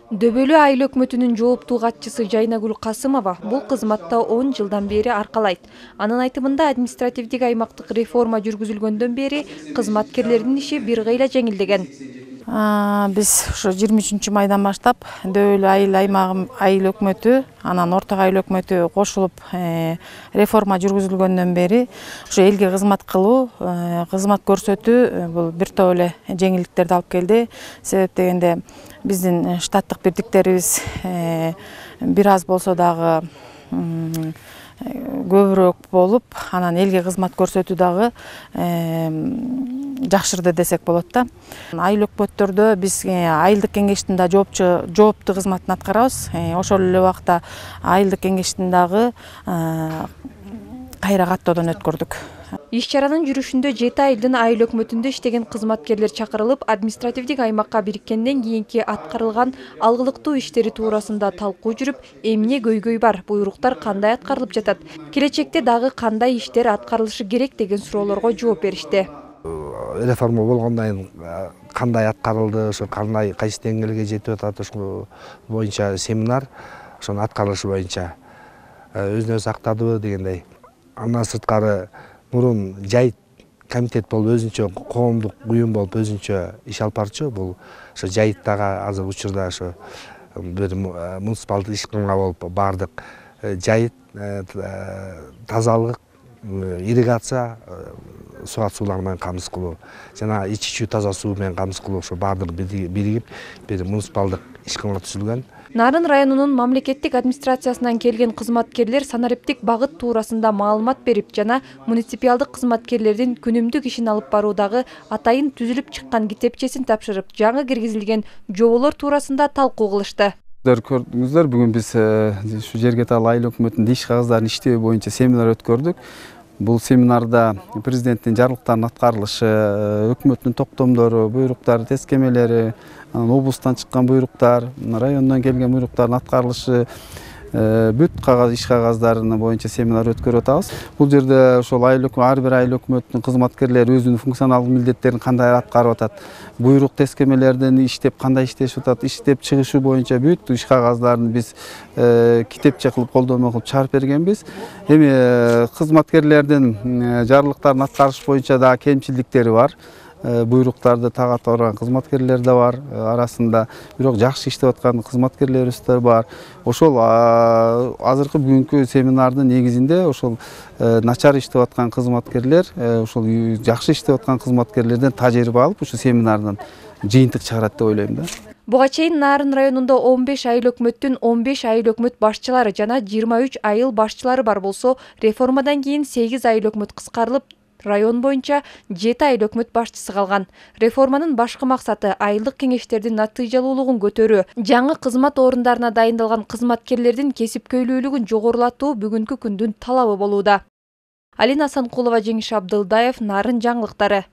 Дөбөлүү айыл өкмөтүнүн жооптуу катчысы Жайнагүл Касымова бул кызматта 10 жылдан бери аркалайт. Анын айтымында административдик аймактык реформа жүргүзүлгөндөн бери кызматкерлердин иши бир кыйла жеңилдеген. Биз ошо 23 майдан баштап дөбөлүү айыл өкмөтү, анан орток айыл өкмөтү кошулуп реформа жүргүзүлгөндөн бери ошо элге кызмат кылуу, кызмат көрсөтүү бул бир топ эле жеңилдиктерди алып келди. Себеп дегенде биздин штаттык бирдиктерибиз бир аз болсо дагы көбүрөөк болуп, анан элге кызмат көрсөтүү дагы жакшырды десек болот да. Айыл өкмөттөрдө биз айылдык кеңештин да жооптуу кызматын аткарабыз. Ошол эле убакта айылдык кеңештин дагы кайра каттоодон өткөрдүк. Иш чаранын жүрүшүндө 7 айылдын айыл өкмөтүндө иштеген кызматкерлер чакырылып, административдик аймакка бириккенден кийинки аткарылган алгылыктуу иштери туурасында талкуу жүрүп, эмне көйгөй бар, буйруктар кандай аткарылып жатат, келечекте дагы кандай иштер аткарылышы керек деген суроолорго жооп беришти. Реформа болгондон кийин кандай аткарылды, ошо кандай кайсы деңгээлге жетип атат, ошол боюнча семинар, ошонун аткарылышы боюнча өзүн өзү актадыбы дегендей. Андан сырткары мурун жайыт комитет болуп өзүнчө коомдук уюм болуп өзүнчө иш алып барчу. Бул ошо жайыттагы азыр учурда ошо бир муниципалдык ишканга болуп бардык жайыт, тазалык, ирригация, суу суулар менен камсыз кылуу жана ичүү таза суу менен камсыз кылуу ошо баардыгы биригип бир муниципалдык ишканга түзүлгөн. Нарын районунун мамлекеттик администрациясынан келген кызматкерлер санариптик багыт туурасында маалымат берип жана муниципалдык кызматкерлердин күнүмдүк ишин алып баруудагы атайын түзүлүп чыккан китепчесин тапшырып, жаңы киргизилген жоболор туурасында талкуу кылышты. Көрдүңүздөр, бүгүн биз ушу жерге таал айыл өкмөтүнүн иш кагыздарын иштөө боюнча семинар өткөрдүк. Бул семинарда президенттин жарлыктарынын аткарылышы, өкмөттүн токтомдору, буйруктары, тескемелери, облустан чыккан буйруктар, райондон келген буйруктардын аткарылышы, бүт иш кагаздарынын боюнча семинар өткөрүп атабыз. Бул жерде ошол ар бир айыл өкмөтүнүн кызматкерлери өзүнүн функционалдык милдеттерин кандай аткарып атат, буйрук тескемелерден иштеп кандай иштешип атат, иштеп чыгышы боюнча бүт иш кагаздарын биз китепче кылып колдонмо кылып чыгарып бергенбиз. Эми кызматкерлердин жарлыктарын аткарыш боюнча дагы кемчилдиктери бар. Буйруктарды тагат барган кызматкерлер да бар арасында, бирок жакшы иштеп аткан кызматкерлерибиз да бар. Ошол азыркы бүгүнкү семинардын негизинде ошол начар иштеп аткан кызматкерлер, ошол жакшы иштеп аткан кызматкерлерден тажрыйба алып, ушу семинардан жыйынтык чыгарат деп ойлойм да. Буга чейин Нарын районунда 15 айыл өкмөттүн 15 айыл өкмөт башчылары жана 23 айыл башчылары бар болсо, реформадан кийин 8 айыл өкмөт кыскарылып, район боюнча 7 айыл өкмөт башчысы калган. Реформанын башкы максаты айылдык кеңештердин натыйжалуулугун көтөрүү, жаңы кызмат орундарына дайындалган кызматкерлердин кесипкөйлүүлүгүн жогорулатуу бүгүнкү күндүн талабы болууда. Алина Санкулова, Жеңиш Абдылдаев, Нарын жаңылыктары.